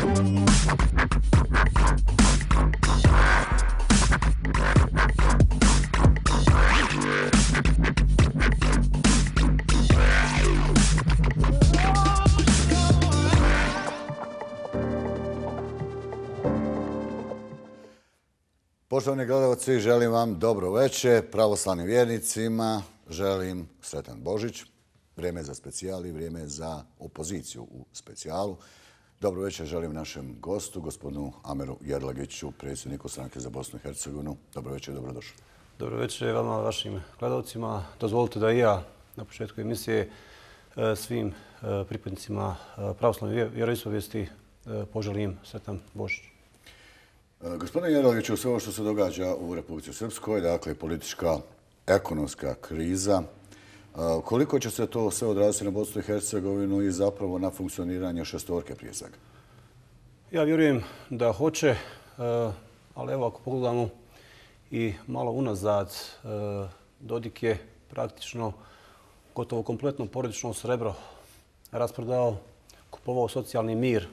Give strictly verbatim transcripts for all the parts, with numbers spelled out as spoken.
Poštovani gledalci, želim vam dobro večer. Pravoslavnim vjernicima želim sretan Božić. Vrijeme za specijal i vrijeme za opoziciju u specijalu. Dobro večer želim našem gostu, gospodinu Ameru Jerlagiću, predsjedniku Stranke za Bosnu i Hercegovinu. Dobro večer, dobrodošli. Dobro večer vama, vašim gledalcima. Dozvolite da i ja na početku emisije svim pripadnicima pravoslavne vjeroispovijesti poželim sretan Božić. Gospodine Jerlagiću, sve ovo što se događa u Republici Srpskoj, dakle politička, ekonomska kriza, koliko će se to sve odraziti na Bosnu i Hercegovinu i zapravo na funkcioniranje šestorke prije svega? Ja vjerujem da hoće, ali evo ako pogledamo i malo unazad, Dodik je praktično gotovo kompletno porodično srebro rasprodao, kupovao socijalni mir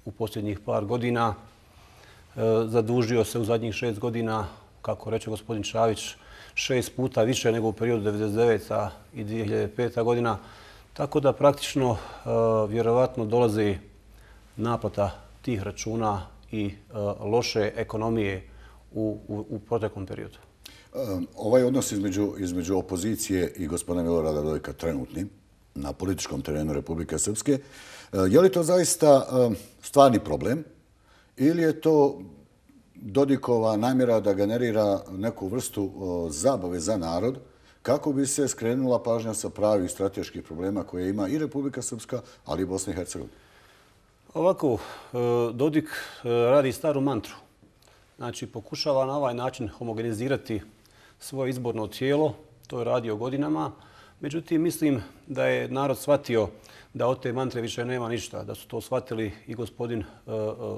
u posljednjih par godina, zadužio se u zadnjih šest godina, kako reče gospodin Čavić, šest puta više nego u periodu devedeset deveta i dvije hiljade peta godina. Tako da praktično vjerovatno dolazi naplata tih računa i loše ekonomije u, u, u proteklom periodu. Ovaj odnos između, između opozicije i gospodina Milorada Dodika trenutni na političkom terenu Republike Srpske, je li to zaista stvarni problem? Ili je to Dodikova namjera da generira neku vrstu zabave za narod kako bi se skrenula pažnja sa pravih strateških problema koje ima i Republika Srpska, ali i Bosna i Hercegovina? Ovako, Dodik radi staru mantru. Znači, pokušava na ovaj način homogenizirati svoje izborno tijelo. To je radio godinama. Međutim, mislim da je narod shvatio da od te mantre više nema ništa, da su to shvatili i gospodin,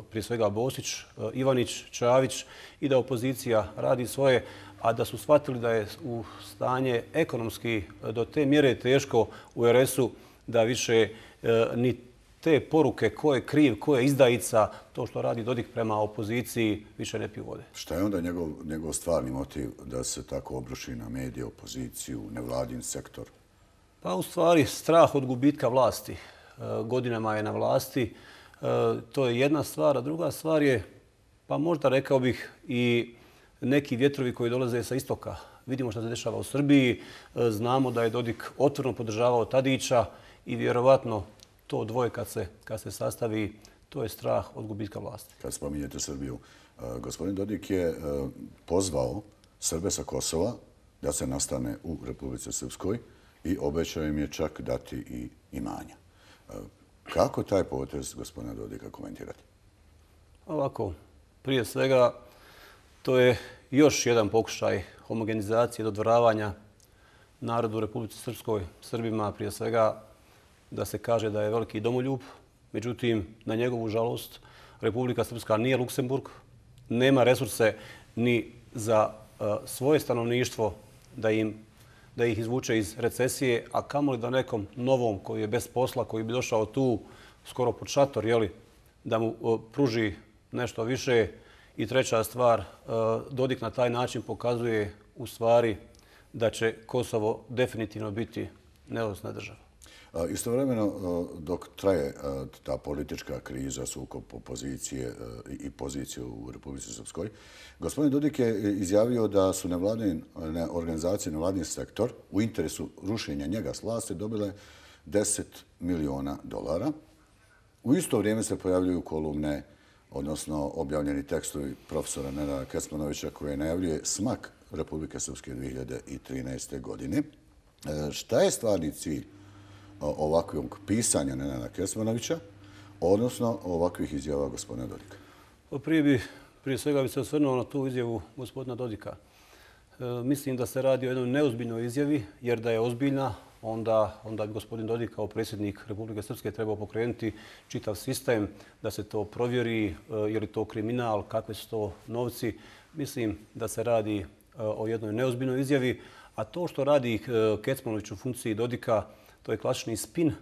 prije svega Bosić, Ivanić, Čavić i da opozicija radi svoje, a da su shvatili da je u stanje ekonomski do te mjere teško u er es-u da više ni te poruke ko je kriv, ko je izdajica, to što radi Dodik prema opoziciji više ne piju vode. Šta je onda njegov, njegov stvarni motiv da se tako obruši na medije, opoziciju, nevladin sektor? Pa u stvari strah od gubitka vlasti. Godinama je na vlasti. To je jedna stvar, a druga stvar je, pa možda rekao bih, i neki vjetrovi koji dolaze sa istoka. Vidimo što se dešava u Srbiji. Znamo da je Dodik otvoreno podržavao Tadića i vjerovatno to dvoje kad se, kad se sastavi, to je strah od gubitka vlasti. Kad spominjete Srbiju, gospodin Dodik je pozvao Srbe sa Kosova da se nastane u Republici Srpskoj i obećao im je čak dati i imanja. Kako taj potez gospodina Dodika komentirati? Ovako, prije svega, to je još jedan pokušaj homogenizacije, dodvoravanja narodu u Republici Srpskoj, Srbima, prije svega da se kaže da je veliki domoljub. Međutim, na njegovu žalost, Republika Srpska nije Luksemburg, nema resurse ni za svoje stanovništvo da im da ih izvuče iz recesije, a kamoli da nekom novom koji je bez posla, koji bi došao tu skoro pod šator, jeli, da mu pruži nešto više. I treća stvar, Dodik na taj način pokazuje u stvari da će Kosovo definitivno biti neovisna država. Istovremeno, dok traje ta politička kriza, sukob opozicije i pozicije u Republici Srpskoj, gospodin Dodik je izjavio da su nevladine organizacije, nevladin sektor u interesu rušenja njega s vlasti dobile deset miliona dolara. U isto vrijeme se pojavljuju kolumne, odnosno objavljeni tekstovi profesora Nenada Kecmanovića koje najavljuje smak Republike Srpske dvije hiljade trinaeste. godine. Šta je stvarni cilj ovakvog pisanja Nenada Kecmanovića, odnosno ovakvih izjava gospodina Dodika? Prije, bi, prije svega bi se osvrnuo na tu izjavu gospodina Dodika. E, mislim da se radi o jednoj neozbiljnoj izjavi, jer da je ozbiljna, onda, onda bi gospodin Dodik kao predsjednik Republike Srpske trebao pokrenuti čitav sistem da se to provjeri, e, je li to kriminal, kakve su to novci. Mislim da se radi e, o jednoj neozbiljnoj izjavi, a to što radi e, Kecmanović u funkciji Dodika, to je klasični spin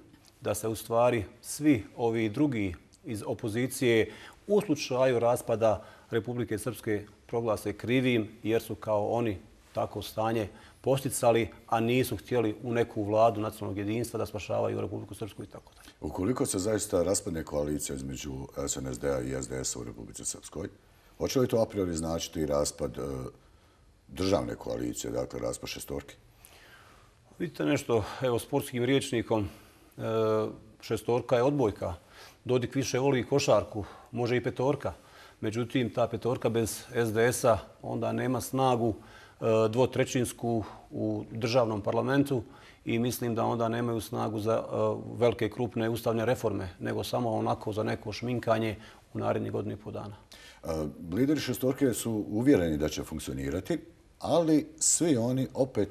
da se u stvari svi ovi drugi iz opozicije u slučaju raspada Republike Srpske proglase krivim jer su kao oni tako stanje posticali, a nisu htjeli u neku vladu nacionalnog jedinstva da spašavaju Republiku Srpsku i tako dalje. Ukoliko se zaista raspadne koalicija između S N S D-a i S D S-a u Republici Srpskoj, hoće li to a priori značiti raspad državne koalicije, dakle raspad šestorke? Vidite nešto, evo, sportskim rječnikom, šestorka je odbojka. Dodik više voli košarku, može i petorka. Međutim, ta petorka bez S D S-a onda nema snagu dvotrećinsku u državnom parlamentu i mislim da onda nemaju snagu za velike krupne ustavne reforme, nego samo onako za neko šminkanje u narednih godinu i pol dana. Lideri šestorke su uvjereni da će funkcionirati, ali svi oni opet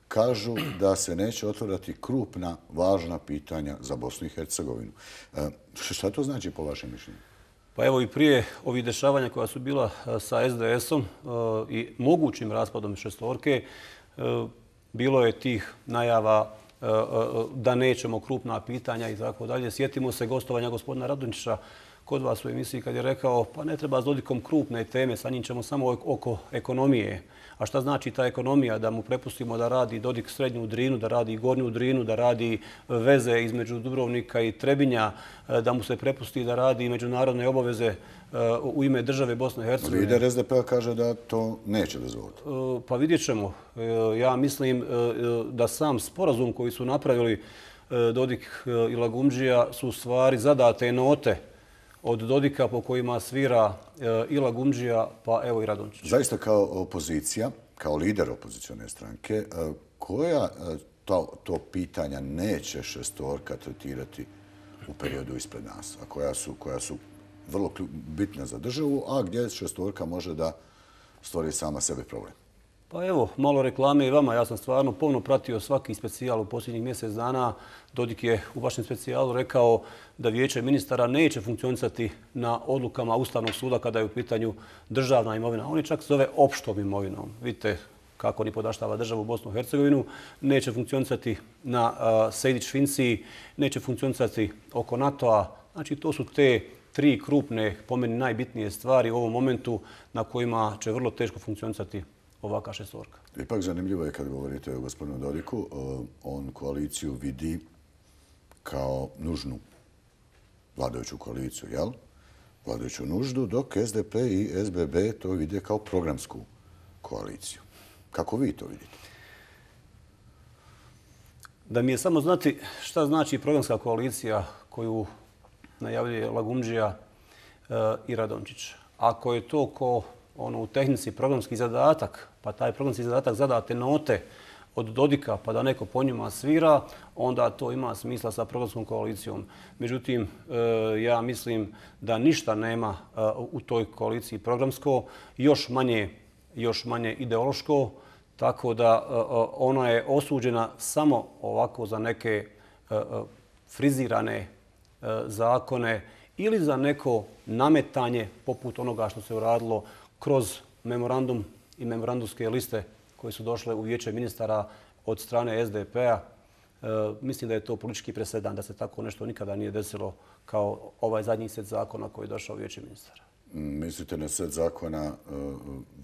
kažu da se neće otvorati krupna, važna pitanja za Bosnu i Hercegovinu. Šta to znači po vašem mišljenju? Pa evo i prije ovih dešavanja koja su bila sa S D S-om i mogućim raspadom šestorke, bilo je tih najava da nećemo krupna pitanja i tako dalje. Sjetimo se gostovanja gospodina Radonjića kod vas u emisiji kad je rekao pa ne treba s Dodikom krupne teme, sa njim ćemo samo oko ekonomije. A šta znači ta ekonomija? Da mu prepustimo da radi Dodik srednju Drinu, da radi gornju Drinu, da radi veze između Dubrovnika i Trebinja, da mu se prepusti da radi međunarodne obaveze u ime države Bosne i Hercegovine. Lider S D P-a kaže da to neće dozvoliti. Pa vidjet ćemo. Ja mislim da sam sporazum koji su napravili Dodik i Lagumdžija su u stvari zadate note od Dodika po kojima svira i Lagumdžija, pa evo i Radončić. Zaista kao opozicija, kao lider opozicione stranke, koja to, to pitanja neće šestorka tretirati u periodu ispred nas, a koja su, koja su vrlo bitna za državu, a gdje šestorka može da stvori sama sebi problem? Pa evo, malo reklame i vama. Ja sam stvarno pomno pratio svaki specijal u posljednjih mjesec dana. Dodik je u vašem specijalu rekao da vijeće ministara neće funkcionisati na odlukama Ustavnog suda kada je u pitanju državna imovina. On je čak zove opštom imovinom. Vidite kako ni podaštava državu Bosnu i Hercegovinu. Neće funkcionisati na Sejdić-Finciji, neće funkcionisati oko NATO-a. Znači, to su te tri krupne, po meni najbitnije stvari u ovom momentu na kojima će vrlo teško funkcionisati ovaka šestorka. Ipak zanimljivo je kad govorite o gospodinu Dodiku, on koaliciju vidi kao nužnu vladajuću koaliciju, jel? Vladajuću nuždu, dok S D P i S B B to vide kao programsku koaliciju. Kako vi to vidite? Da mi je samo znati šta znači programska koalicija koju najavljuje Lagumdžija i Radončić. Ako je to ko ono u tehnici programski zadatak, pa taj programski zadatak zadate note od Dodika pa da neko po njima svira, onda to ima smisla sa programskom koalicijom. Međutim, ja mislim da ništa nema u toj koaliciji programsko, još manje, još manje ideološko, tako da ona je osuđena samo ovako za neke frizirane zakone ili za neko nametanje poput onoga što se uradilo kroz memorandum i memorandumske liste koje su došle u vijeće ministara od strane S D P-a. E, mislim da je to politički presedan, da se tako nešto nikada nije desilo kao ovaj zadnji set zakona koji je došao u vijeće ministara. Mislite na set zakona uh,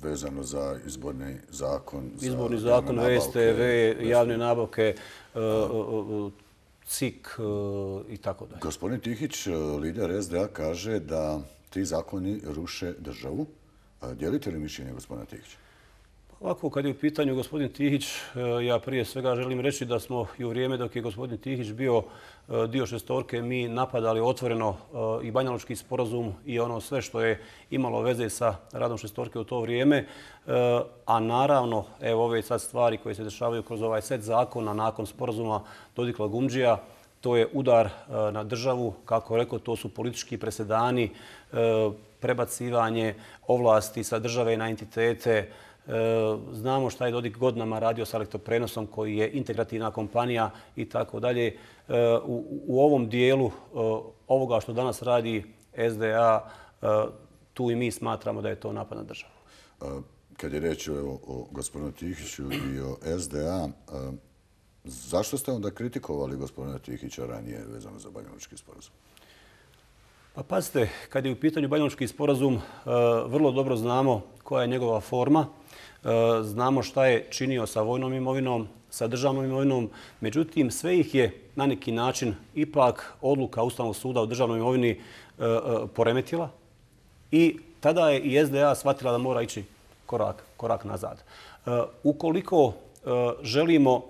vezano za izborni zakon? Za izborni zakon, V S T V, javne nabavke, uh, uh, C I K uh, i tako dalje. Gospodin Tihić, lider S D A, kaže da ti zakoni ruše državu. Dijelite li mišljenje gospodina Tihića? Ovako, kad je u pitanju gospodin Tihić, ja prije svega želim reći da smo i u vrijeme dok je gospodin Tihić bio dio šestorke, mi napadali otvoreno i Banjalučki sporazum i ono sve što je imalo veze sa radom šestorke u to vrijeme. A naravno, evo ove sad stvari koje se dešavaju kroz ovaj set zakona nakon sporazuma Dodik-Lagumdžija, to je udar na državu. Kako rekao, to su politički presedani, prebacivanje ovlasti sa države na entitete. Znamo šta je Dodik godinama radio sa elektroprenosom koji je integrativna kompanija i tako dalje. U ovom dijelu ovoga što danas radi S D A, tu i mi smatramo da je to napad na državu. Kad je reč o, o gospodinu Tihiću i o S D A, zašto ste onda kritikovali gospodina Tihića ranije vezano za Banjalučki sporazum? Pa pazite, kad je u pitanju Banjalučki sporazum, vrlo dobro znamo koja je njegova forma. Znamo šta je činio sa vojnom imovinom, sa državnom imovinom. Međutim, sve ih je na neki način ipak odluka Ustavnog suda o državnoj imovini poremetila. I tada je i S D A shvatila da mora ići korak, korak nazad. Ukoliko želimo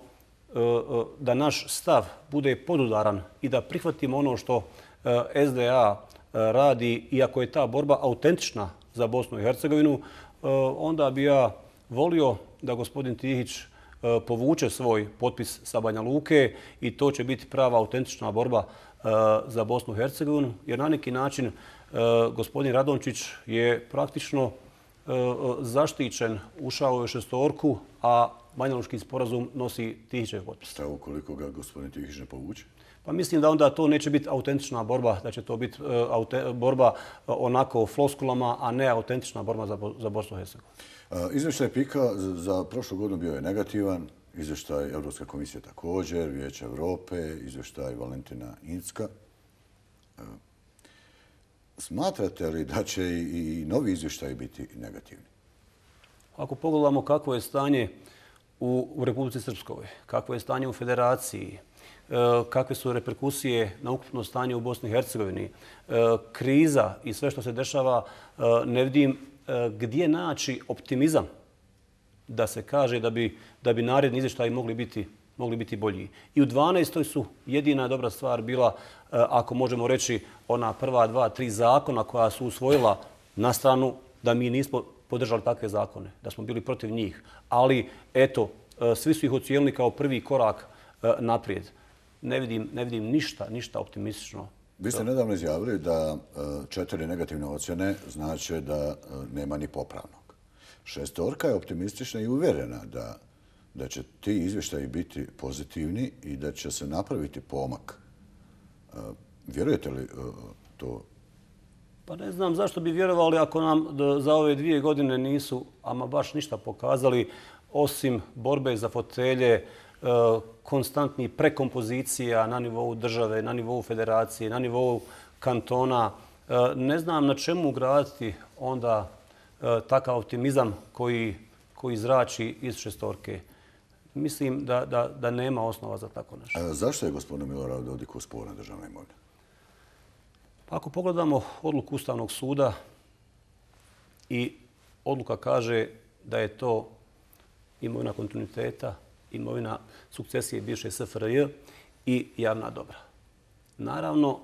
da naš stav bude podudaran i da prihvatimo ono što S D A radi, iako je ta borba autentična za Bosnu i Hercegovinu, onda bi ja volio da gospodin Tihić povuče svoj potpis sa Banja Luke i to će biti prava autentična borba za Bosnu i Hercegovinu, jer na neki način gospodin Radončić je praktično zaštićen, ušao u šestorku, a Banjalučki sporazum nosi Tihićev potpis. Šta ukoliko ga gospodin Tihić ne povuče? Pa mislim da onda to neće biti autentična borba, da će to biti borba onako floskulama, a ne autentična borba za Bosnu i Hercegovinu. Izvještaj PIK-a za prošlu godinu bio je negativan, izvještaj Europske komisije također, Vijeće Evrope, izvještaj Valentina Incka. Smatrate li da će i novi izvještaj biti negativni? Ako pogledamo kakvo je stanje u Republici Srpskoj, kakvo je stanje u Federaciji, kakve su reperkusije na ukupno stanje u Bosni i Hercegovini, kriza i sve što se dešava, ne vidim gdje naći optimizam da se kaže da bi, da bi naredni izvještaji mogli biti, mogli biti bolji. I u dvanaestoj su jedina dobra stvar bila, ako možemo reći, ona prva dva, tri zakona koja su usvojila na stranu da mi nismo podržali takve zakone, da smo bili protiv njih. Ali, eto, svi su ih ocijenili kao prvi korak naprijed. Ne vidim, ne vidim ništa, ništa optimistično. Vi ste nedavno izjavili da četiri negativne ocjene znači da nema ni popravnog. Šestorka je optimistična i uvjerena da, da će ti izvještaji biti pozitivni i da će se napraviti pomak. Vjerujete li to? Pa ne znam zašto bi vjerovali ako nam za ove dvije godine nisu ama baš ništa pokazali, osim borbe za fotelje, konstantnih prekompozicija na nivou države, na nivou federacije, na nivou kantona. Ne znam na čemu graditi onda takav optimizam koji, koji zrači iz šestorke. Mislim da, da, da nema osnova za tako nešto. A zašto je gospodinu Miloradu Dodiku sporna državna imovina? Pa ako pogledamo odluku Ustavnog suda i odluka kaže da je to imovina kontinuiteta, imovina sukcesije bivše S F R J i javna dobra. Naravno,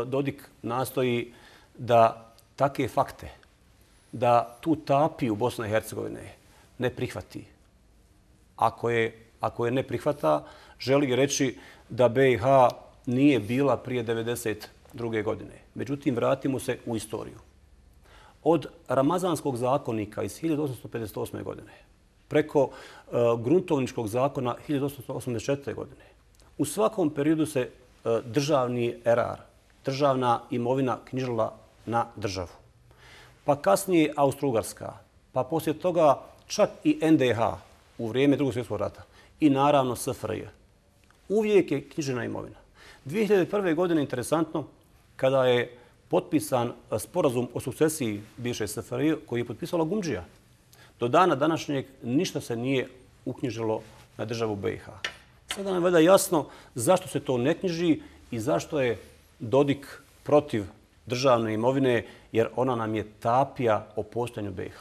Dodik nastoji da takve fakte, da tu tapiju Bosne i Hercegovine ne prihvati. Ako je, ako je ne prihvata, želi reći da B i H nije bila prije devedeset druge godine. Međutim, vratimo se u istoriju. Od Ramazanskog zakonika iz hiljadu osamsto pedeset osme. godine preko uh, gruntovničkog zakona hiljadu osamsto osamdeset četvrte. godine. U svakom periodu se uh, državni erar, državna imovina knjižila na državu. Pa kasnije Austro-Ugarska, pa poslije toga čak i N D H u vrijeme Drugog svjetskog rata i naravno S F R J. Uvijek je knjižena imovina. dvije hiljade prve. godine, interesantno, kada je potpisan sporazum o sukcesiji bivše S F R J koji je potpisala Gumdžija, do dana današnjeg ništa se nije uknjižilo na državu B i H. Sada nam je valjda jasno zašto se to ne knjiži i zašto je Dodik protiv državne imovine, jer ona nam je tapija o postojanju B i H.